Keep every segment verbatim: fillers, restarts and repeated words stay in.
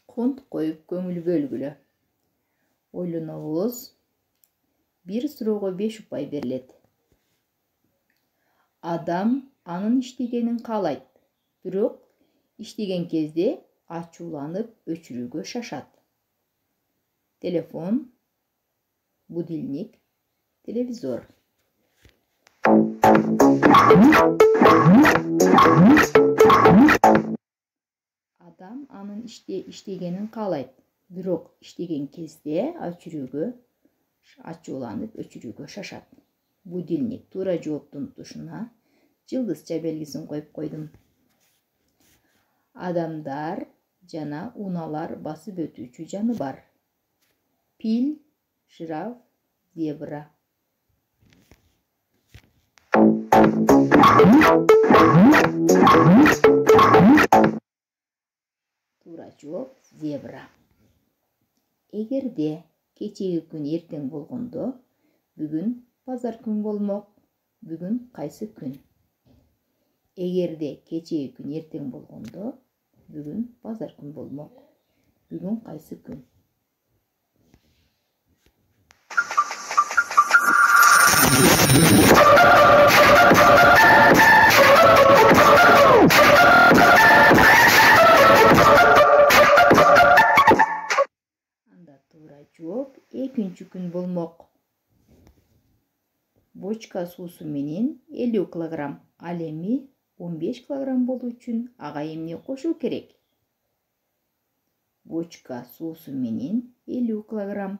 Конт коюп көңүл бөлгүлө. Ойлонобуз. Бир суроого беш упай берилет. Адам анын иштегенин каалайт, бирок иштеген кезде ачууланып өчүрүүгө шашат. Телефон, будильник, телевизор. Адам анын иште иштегенин каалайт, бирок иштеген кезде ачүрүүгө ачууланып өчүрүүгө шашат. Будильник. Туура жооптун тушуна жылдызча белгисин коюп койдум. Адамдар жана унаалар басып өтүүчү жаныбар. Пил, жираф, зебра. Туура жооп зебра. Эгерде кечеги күн эртең болгондо, бүгүн базар күн болмок. Бүгүн кайсы күн? Эгерде кечеги күн эртең болгондо, бүгүн базар күн болмок. Бүгүн кайсы күн? Анда туура жооп экинчи күн болмок. Бочка суусу менен элүү килограмм, ал эми он беш килограмм болуу үчүн ага эмне кошуу керек? Бочка суусу менен элүү килограмм,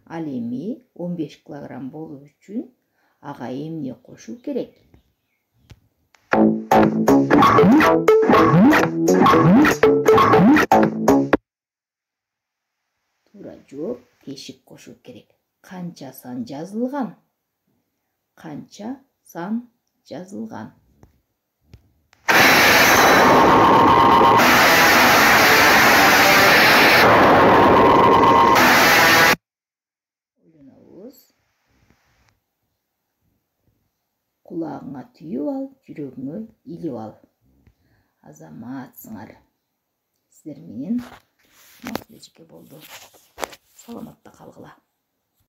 ал эми он беш килограмм болуу үчүн ага эмне кошуу керек? Туура жооп тешик кошуу керек. Канча сан жазылган? Канча сан жазылган? Ойлонобуз. Кулагыңа түйүп ал, жүрөгүңө илип ал. Азаматсыңар. Сиздер менен мас эжеке болду. Саламатта калгыла.